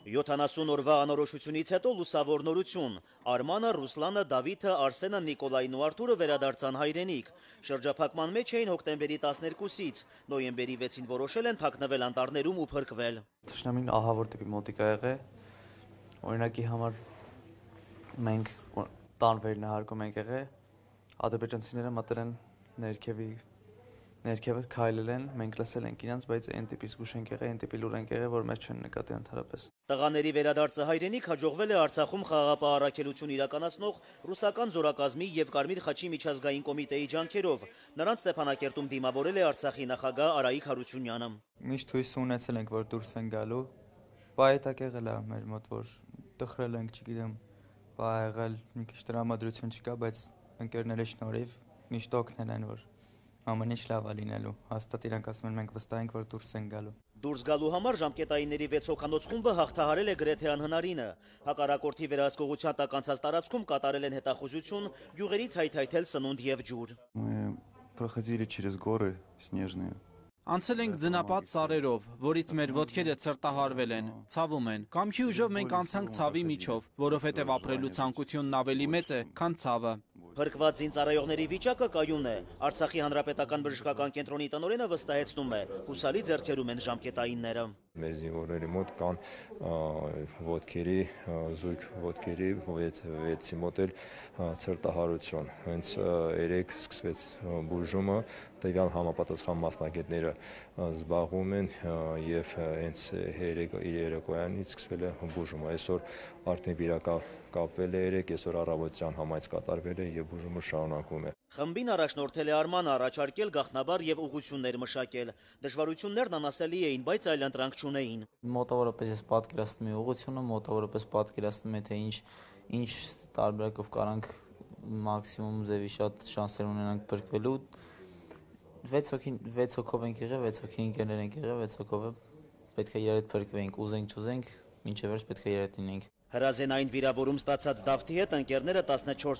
70 օրվա անորոշությունից հետո լուսավոր նորություն։ Արմանը, Ռուսլանը, Դավիթը, Արսենը, Նիկոլային ու Արթուրը վերադարձան հայրենիք։ Շրջափակման մեջ էին հոկտեմբերի 12-ից, նոյեմբերի 6-ին որոշել են թաքնվել անտառներում ու փրկվել։ Թշնամին ահավոր տիպի մոտիկ ա եղել, օրինակի համար մենք տան վերնահարկում ենք եղել, ադրբեջանցիները մտել են ներքևը քայլել են, մենք լսել ենք իրենց, բայց այն տիպի զգուշ ենք եղել, այն տիպի լուր ենք եղել, որ մեզ չեն նկատի ընդհանրապես։ Տղաների վերադարձը հայրենիք հաջողվել է Արցախում խաղաղապահ առաքելություն իրականացնող ռուսական զորակազմի եւ Կարմիր խաչի միջազգային կոմիտեի ջանքերով։ Նրանց Ստեփանակերտում դիմավորել է Արցախի նախագահ Արայիկ Հարությունյանը։ Միշտ հույս ունեցել ենք, որ դուրս են գալու, բայց եղել է մեր մոտ, որ տխրել ենք, չգիտեմ, բա եղել մի քիչ տրամադրություն չկա, բայց ընկերների շնորհիվ միշտ օգնել են, որ ամեն ինչ լավ է լինելու։ Հաստատ իրանք ասում են, մենք վստահ ենք, որ դուրս են գալու։ Դուրս գալու համար ժամկետայինների 6 հոգանոց խումբը հաղթահարել է գրեթե անհնարինը։ Հակառակորդի վերահսկողության տակ անցած տարածքում կատարել են հետախուզություն, գյուղերից հայթայթել սնունդ եւ ջուր։ Проходили через горы снежные. Անցել ենք ձնապատ սարերով, որից մեր ոտքերը ցրտահարվել են, ցավում են։ Կամքի ուժով մենք անցանք ցավի միջով, որովհետև ապրելու ցանկությունն ավելի մեծ է, քան ցավը։ Փրկված զինծառայողների վիճակը կայուն է։ Արցախի հանրապետական բժշկական կենտրոնի տնօրենը վստահեցնում է, հուսալի ձեռքերում են ժամկետայինները։ Մեր զինվորների մոտ կան ոտքերի, զույգ ոտքերի 6-ի մոտ էլ ցրտահարություն։ Հենց երեք սկսվեց բուժումը, տվյալ համապատասխան մասնագետները զբաղվում են եւ հենց երեկոյանից սկսվել է բուժումը։ Այսօր արդեն վիրակապվել է 3, այսօր առավոտյան համայնք կատարվել է եւ բուժումը շարունակվում է։ Խմբին առաջնորդել է Արմանը, առաջարկել գաղտնաբար եւ ուղղություններ մշակել։ Դժվարություններն անասելի էին, բայց այլ ընտրանք չունեին։ Մոտավորապես ես պատկերացնում եմ ուղղությունը, մոտավորապես պատկերացնում եմ, թե ինչ տարբերակով կարանք մաքսիմում ձևի շատ շանսեր ունենանք փրկվելու։ 6 հոգով ենք եղել, 6 հոգի ընկերներ ենք եղել, 6 հոգով պետք է իրար հետ փրկվենք, ուզենք չուզենք, մինչև վերջ պետք է իրար հետ լինենք։ Հրազենային վիրավորում ստացած Դավթի հետ ընկերները 14